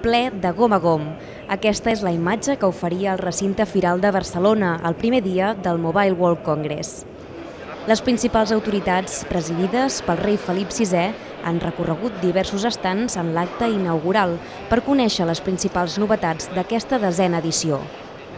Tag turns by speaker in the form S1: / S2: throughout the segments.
S1: ple de gom a gom. Aquesta és la imatge que oferia el recinte firal de Barcelona el primer dia del Mobile World Congress. Les principals autoritats, presidides pel rei Felip VI, han recorregut diversos estands en l'acte inaugural per conèixer les principals novetats d'aquesta 10a edició.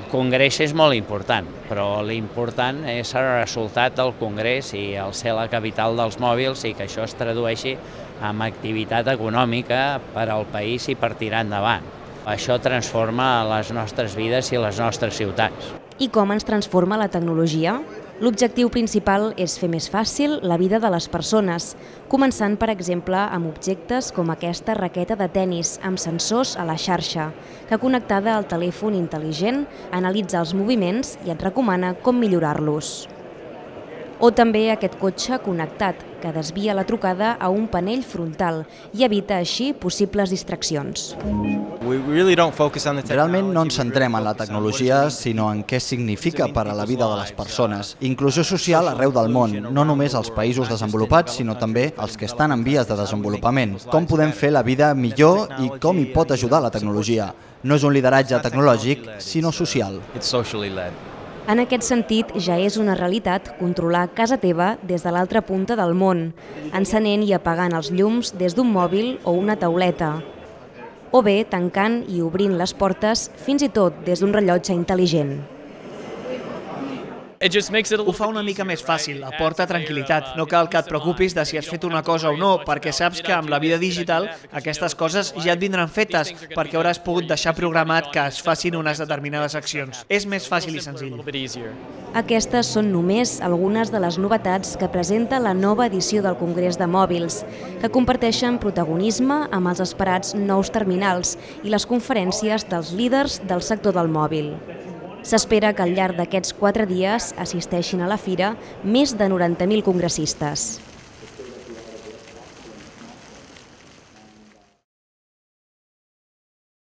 S2: El congrés és molt important, però l'important és el resultat del congrés i el ser la capital dels mòbils i que això es tradueixi en activitat econòmica per al país i per tirar endavant. Això transforma les nostres vides i les nostres ciutats.
S1: I com ens transforma la tecnologia? L'objectiu principal és fer més fàcil la vida de les persones, començant, per exemple, amb objectes com aquesta raqueta de tennis amb sensors a la xarxa, que connectada al telèfon intel·ligent analitza els moviments i et recomana com millorar-los. O també aquest cotxe connectat, que desvia la trucada a un panell frontal i evita així possibles distraccions.
S3: Realment no ens centrem en la tecnologia, sinó en què significa per a la vida de les persones. Inclusió social arreu del món, no només als països desenvolupats, sinó també als que estan en vies de desenvolupament. Com podem fer la vida millor i com hi pot ajudar la tecnologia? No és un lideratge tecnològic, sinó social.
S1: En aquest sentit, ja és una realitat controlar casa teva des de l'altra punta del món, encenent i apagant els llums des d'un mòbil o una tauleta, o bé tancant i obrint les portes fins i tot des d'un rellotge intel·ligent.
S4: Ho fa una mica més fàcil, aporta tranquil·litat. No cal que et preocupis de si has fet una cosa o no, perquè saps que amb la vida digital aquestes coses ja et vindran fetes, perquè hauràs pogut deixar programat que es facin unes determinades accions. És més fàcil i senzill.
S1: Aquestes són només algunes de les novetats que presenta la nova edició del Congrés de Mòbils, que comparteixen protagonisme amb els esperats nous terminals i les conferències dels líders del sector del mòbil. S'espera que al llarg d'aquests 4 dies assisteixin a la fira més de 90.000 congressistes.